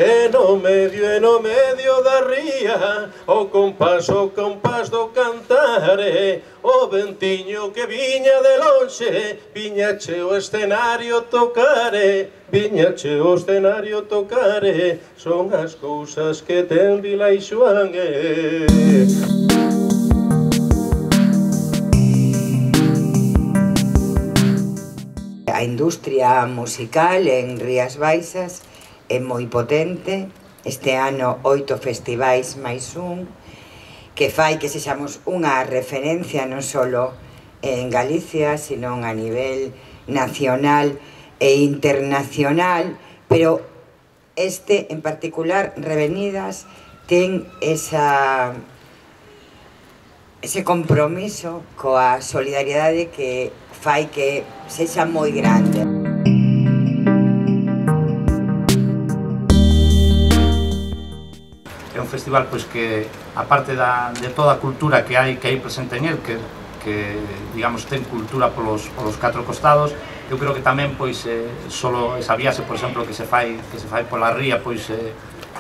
E no medio da ría, o compás do cantare, o ventiño que viña de lonxe, viñache o escenario tocare, viñache o escenario tocare, son as cousas que ten Vilaixoán. A industria musical en Rías Baixas é moi potente. Este ano 8 festivais máis un, que fai que sexamos unha referencia non só en Galicia, sino a nivel nacional e internacional, pero este en particular, Revenidas, ten ese compromiso coa solidariedade que fai que sexa moi grande. É un festival pois que, aparte de toda a cultura que hai presente en el, que digamos ten cultura polos catro costados, eu creo que tamén pois solo esa viaxe, por exemplo, que se fai pola ría, pois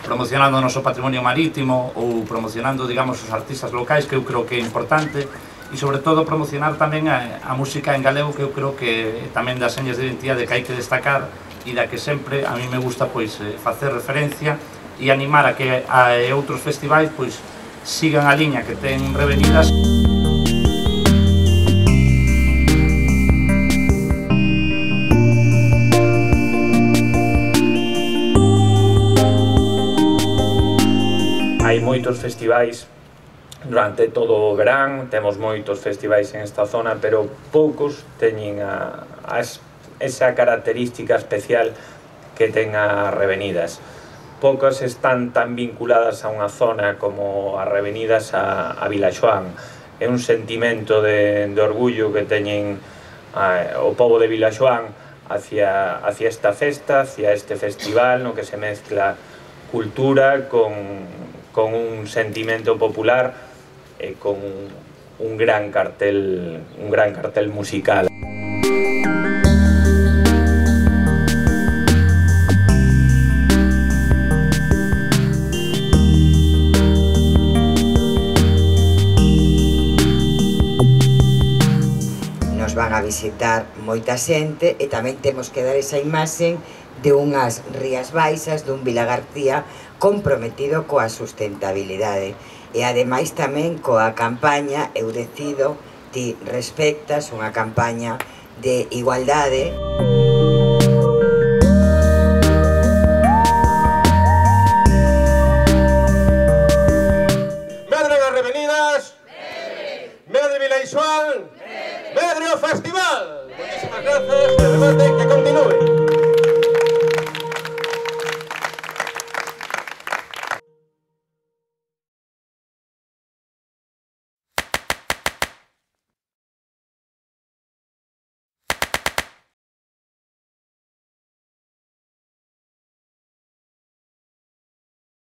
promocionando o noso patrimonio marítimo ou promocionando, digamos, os artistas locais, que eu creo que é importante, e sobre todo promocionar tamén a música en galego, que eu creo que tamén das señas de identidade que hai que destacar e da que sempre a mí me gusta pois facer referencia e animar a que outros festivais pois sigan a liña que ten Revenidas. Hai moitos festivais durante todo o verán, temos moitos festivais en esta zona, pero poucos teñen esa característica especial que ten a Revenidas. Poucas están tan vinculadas a unha zona como a Revenidas a Vilaixoán. É un sentimento de orgullo que teñen o pobo de Vilaixoán hacia esta festa, hacia este festival no que se mezcla cultura con un sentimento popular e con un gran cartel musical. Nos van a visitar moita xente e tamén temos que dar esa imaxe de unhas Rías Baixas, dun Vilagarcía comprometido coa sustentabilidade. E ademais tamén coa campaña Eu Decido, Ti Respectas, unha campaña de igualdade. Medre das Revenidas, medre Vilaixoán, medre o festival. Moitísimas grazas e remate que continúe.